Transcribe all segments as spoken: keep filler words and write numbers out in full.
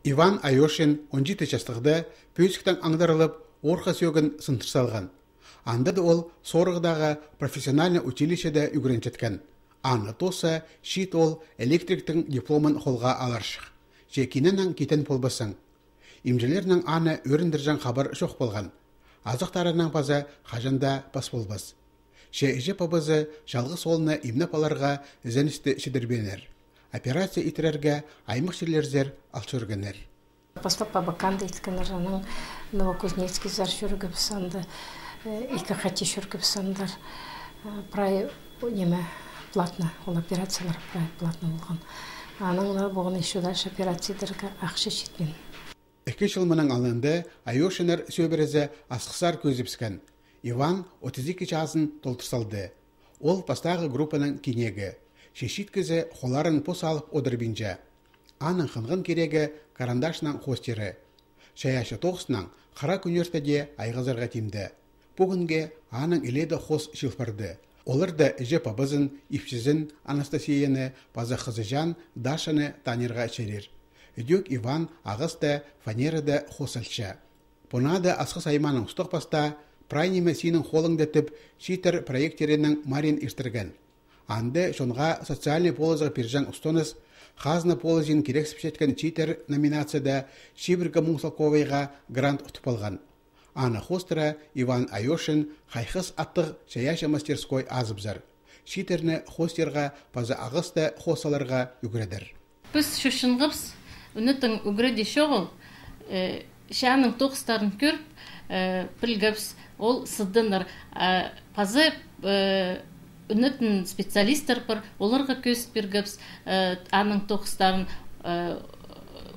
Иван Айошин он читі частығда пӧзіктең аңдарылып, орха сӧӧгін сындыр салған. Анда даа ол Сорығдағы профессиональный училищеде ӱгренчеткен. Аны тооза, чиит ол электриктің дипломын холға аларҷых. Че кинең китен полбассың. Имҷілернең аны ӧріндірҷең хабар чох полған. Азахтарынаң паза хаҷан даа пас полбас. Че іҷе-пабазы чалғыс оолны имнеп аларға ізеністі чідірбееннер. Операция итірерге аймах чирлерзер ал чӧргеннер. Пастап Абаканда иткеннер, анаң Новокузнецкийзар чӧргебіс анда, э, ікі хати чӧргебіс андар. Э, прай, о, ниме, платно, ол операциялар прай платно полған. Анаң на полған ещё дальше операция идерге ахча читпин. Ікі чыл мының алнында Айошиннер сӧбірезі асхыссар кӧзібіскен. Иван отыс ікі чазын толдыр салды. Ол пастағы группаның кинегі. Че чиит кізі холларын пос алып одырбинча. Аның хынған кирегі карандашнаң хоостиры. Чайаачы тоғыснаң хыра кӱннерде дее айғазарға тимде. Пӱӱнгі аның илееде хоос чыылып парды. Оларда іҷе-пабазын, ипчізін Анастасияны паза хызыҷаан Дашаны танирға чарир. Ідӧк Иван ағаста, фанерада хоос алча. Пу нада Асхыс аймааның устағ пастаа «Прай ниме синің холыңда» тіп чииттер проекттерінің мариин иртірген. Анда чонға социальный полызығ пирҷең устаныс «Хазна полызын кирексіпчеткен чииттер» номинацияда чибіргі муң салковайға грант утып алған. Аны хоостыра Иван Айошин «Хайхыс» аттығ чайаачы мастерской азыбызар. Чииттерні хоостирға паза ағаста хоос саларға ӱгредер. Піс чӧрчеткебіс, ӱнетін ӱгредіг чоғыл, э, че аның тоғыстарын кӧріп, э, пілгебіс, ол сыдынар. Э, паза, э, ӱнетін специалисттер пар, оларға кӧзіт пиргебіс, э, аның тоғыстарын, э,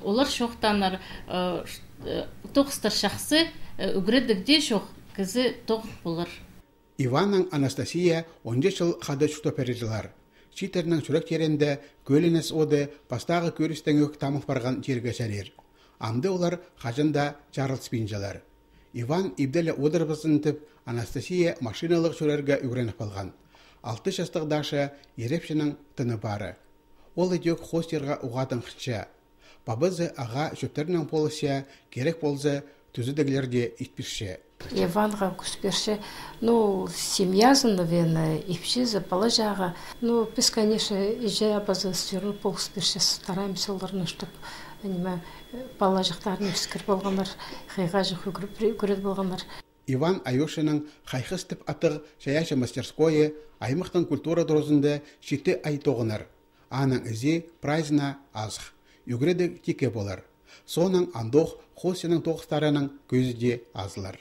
олар чоохтанар, э, ш-, э, тоғыстар чахсы, э, ӱгредіг дее чох, кізі тоғын полар. Иваннаң Анастасия онҷа чыл хада чуртап пирчелер. Чииттернің чӱрек тиреенде кӧленіс оды пастағы кӧрістең ӧк тамыл парған тирге чарир. Амды олар хаҷан даа чарылыспинчалар. Иван ибде ле одырбазын тіп, Анастасия машиналығ чӧрерге ӱгреніп алған. Алты частығ Даша ирепчінің тыны пары. Ол ідӧк хоостирға уғаа тың хынча. Пабазы ағаа чӧптернең полысча, кирек полза, тӱзедіглер дее ит пирче. Иванға кӱс пирче, ну, семьязын, наверное, ипчізі, пала-чаға. Ну, піс, конечно, іҷе-пабазы всё равно полыс пирчебіс, стараемся оларны, чтоб, ниме, пала-чахтарын ӧскір полғаннар, хыйға чох ӱгре-, ӱгрет полғаннар. Иван Айошинның «Хайхыс» тіп аттығ чайаачы мастерскойы аймахтың культура туразында читі ай тоғынар. Аның ізі прайзына азых. Ӱгредіг тикке полар. Соонаң андох хоостирның тоғыстарының кӧзі дее азылар.